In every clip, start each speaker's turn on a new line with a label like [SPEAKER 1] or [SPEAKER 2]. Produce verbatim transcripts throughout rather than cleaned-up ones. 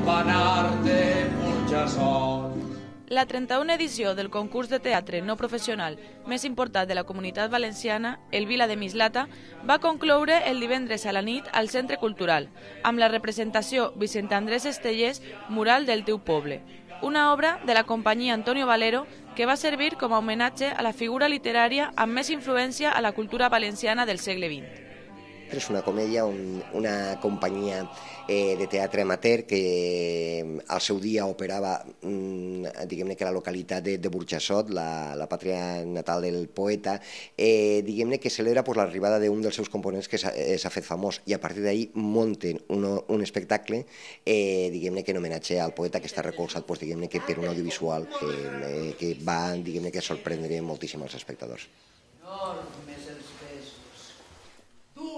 [SPEAKER 1] campanar de Burjassot.
[SPEAKER 2] La trenta-una edició del concurs de teatre no professional més important de la Comunitat Valenciana, el Vila de Mislata, va concloure el divendres a la nit al Centre Cultural, amb la representació Vicent Andrés Estellés, Mural del teu poble, una obra de la companyia Antonio Valero que va servir com a homenatge a la figura literària amb més influència a la cultura valenciana del segle vint.
[SPEAKER 3] És una comèdia, un, una companyia eh, de teatre amateur que al seu dia operava, mm, diguem-ne que la localitat de, de Burjassot, la, la pàtria natal del poeta, eh, diguem-ne que celebra pues, l'arribada d'un dels seus components que s'ha eh, fet famós i a partir d'ahir munten un, un espectacle eh, diguem-ne que en homenatge al poeta que està recolzat pues, diguem-ne que per un audiovisual que, eh, que va diguem-ne que sorprendre moltíssim als espectadors.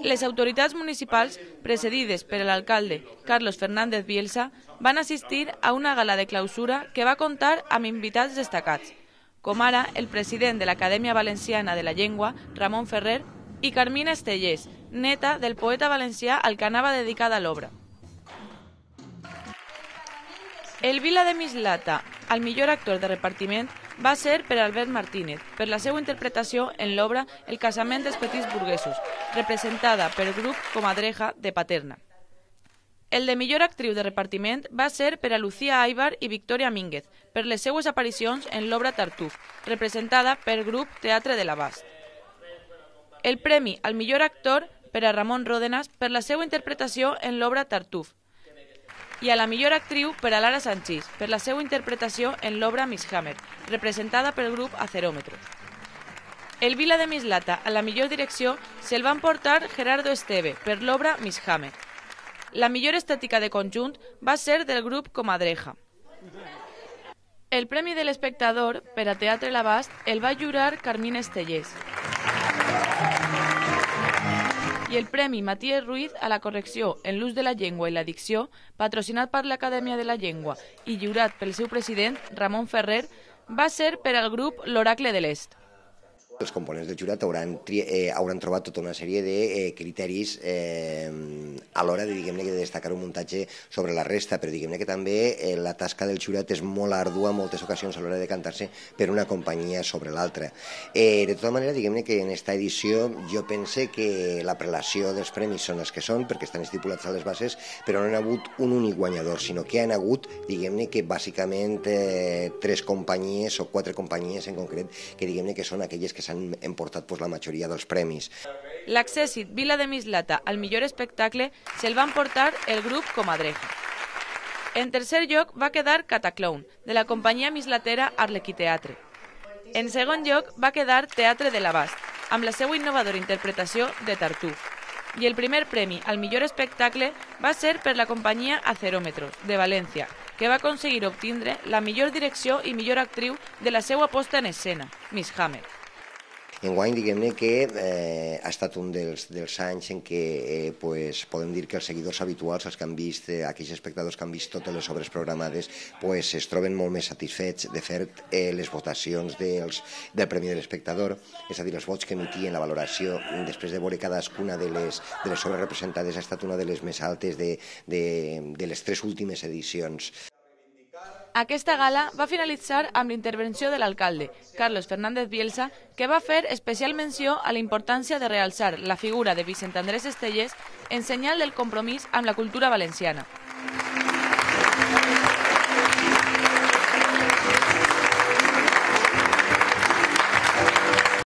[SPEAKER 2] Les autoritats municipals, precedides per l'alcalde Carlos Fernández Bielsa, van assistir a una gala de clausura que va comptar amb invitats destacats, com ara el president de l'Acadèmia Valenciana de la Llengua, Ramon Ferrer, i Carmina Estellés, neta del poeta valencià al que anava dedicada l'obra. El Vila de Mislata, al millor actor de repartiment, va ser per Albert Martínez, per la seva interpretació en l'obra El casament dels petits burguesos, representada per grup Comadreja de Paterna. El de millor actriu de repartiment va ser per a Lucía Aibar i Victoria Mínguez, per les seues aparicions en l'obra Tartuf, representada per grup Teatre de l'Abast. El premi al millor actor per a Ramon Ródenas per la seva interpretació en l'obra Tartuf, i a la millor actriu per a Lara Sanchís, per la seva interpretació en l'obra Miss Hammer, representada pel grup Aceròmetros. El Vila de Mislata a la millor direcció se'l va emportar Gerardo Esteve per l'obra Miss Hammer. La millor estètica de conjunt va ser del grup Comadreja. El Premi de l'Espectador per a Teatre l'Abast el va lliurar Carmina Estellés. I el Premi Matías Ruiz a la correcció en l'ús de la llengua i la dicció, patrocinat per l'Acadèmia de la Llengua i lliurat pel seu president, Ramon Ferrer, va ser per al grup L'Oracle de l'Est.
[SPEAKER 3] Els components del jurat hauran, eh, hauran trobat tota una sèrie de eh, criteris eh, a l'hora de, diguem-ne, de destacar un muntatge sobre la resta, però diguem-ne que també eh, la tasca del jurat és molt ardua en moltes ocasions a l'hora de cantar-se per una companyia sobre l'altra. Eh, de tota manera, diguem-ne que en esta edició jo pense que la prelació dels premis són els que són, perquè estan estipulats a les bases, però no hi ha hagut un únic guanyador, sinó que hi ha hagut, diguem-ne, que bàsicament eh, tres companyies o quatre companyies en concret, que diguem-ne que són aquelles que han emportat pues, la majoria dels premis.
[SPEAKER 2] L'accèssit Vila de Mislata al millor espectacle se'l va emportar el grup Comadreja. En tercer lloc va quedar Cataclown, de la companyia mislatera Arlequí-Teatre. En segon lloc va quedar Teatre de l'Abast, amb la seva innovadora interpretació de Tartuf. I el primer premi al millor espectacle va ser per la companyia Aceròmetros, de València, que va aconseguir obtindre la millor direcció i millor actriu de la seva posta en escena, Miss Hammer.
[SPEAKER 3] Enguany, diguem-ne que eh, ha estat un dels, dels anys en què eh, pues, podem dir que els seguidors habituals, els que han vist, eh, aquells espectadors que han vist totes les obres programades, pues, es troben molt més satisfets. De fet, eh, les votacions dels, del Premi de l'Espectador, és a dir, els vots que emitien la valoració després de veure cadascuna de les, de les obres representades, ha estat una de les més altes de, de, de les tres últimes edicions.
[SPEAKER 2] Aquesta gala va finalitzar amb l'intervenció de l'alcalde, Carlos Fernández Bielsa, que va fer especial menció a la importància de realçar la figura de Vicent Andrés Estellés en senyal del compromís amb la cultura valenciana.